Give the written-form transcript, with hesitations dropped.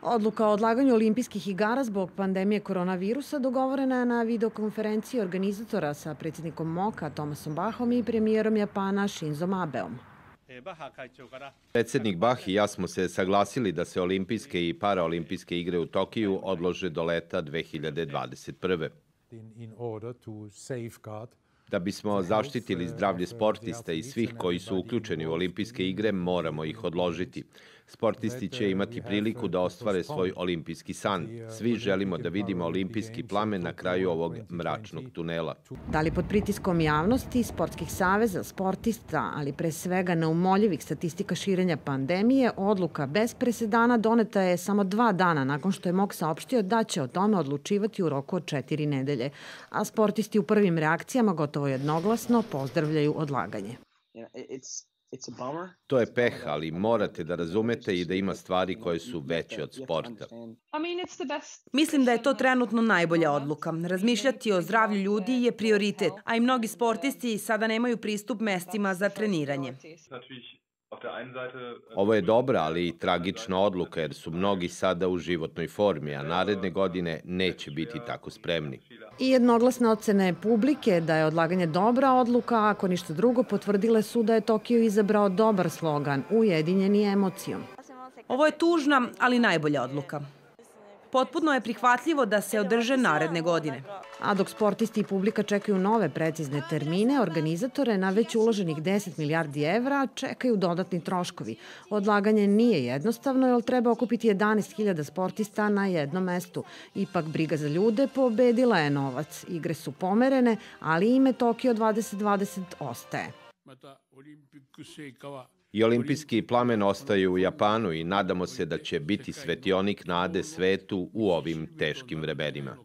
Odluka o odlaganju olimpijskih igara zbog pandemije koronavirusa dogovorena je na videokonferenciji organizatora sa predsjednikom MOK-a Thomasom Bachom i premijerom Japana Shinzom Abeom. Predsjednik Bach i ja smo se saglasili da se olimpijske i paraolimpijske igre u Tokiju odlože do leta 2021. Da bismo zaštitili zdravlje sportista i svih koji su uključeni u olimpijske igre, moramo ih odložiti. Sportisti će imati priliku da ostvare svoj olimpijski san. Svi želimo da vidimo olimpijski plamen na kraju ovog mračnog tunela. Da li pod pritiskom javnosti, sportskih saveza, sportista, ali pre svega neumoljivih statistika širenja pandemije, odluka bez presedana doneta je samo 2 dana nakon što je MOK saopštio da će o tome odlučivati u roku od 4 nedelje. A sportisti u prvim reakcijama gotovo jednoglasno pozdravljaju odlaganje. To je peh, ali morate da razumete i da ima stvari koje su veće od sporta. Mislim da je to trenutno najbolja odluka. Razmišljati o zdravlju ljudi je prioritet, a i mnogi sportisti sada nemaju pristup mestima za treniranje. Ovo je dobra, ali i tragična odluka jer su mnogi sada u životnoj formi, a naredne godine neće biti tako spremni. I jednoglasne ocene publike da je odlaganje dobra odluka, ako ništa drugo, potvrdile su da je Tokio izabrao dobar slogan Ujedinjeni emocijom. Ovo je tužna, ali najbolja odluka. Potpuno je prihvatljivo da se održe naredne godine. A dok sportisti i publika čekaju nove precizne termine, organizatore na već uloženih 10 milijardi evra čekaju dodatni troškovi. Odlaganje nije jednostavno, jer treba okupiti 11.000 sportista na jednom mestu. Ipak briga za ljude pobedila je novac. Igre su pomerene, ali ime Tokio 2020 ostaje. I olimpijski plamen ostaje u Japanu i nadamo se da će biti svetionik nade svetu u ovim teškim vremenima.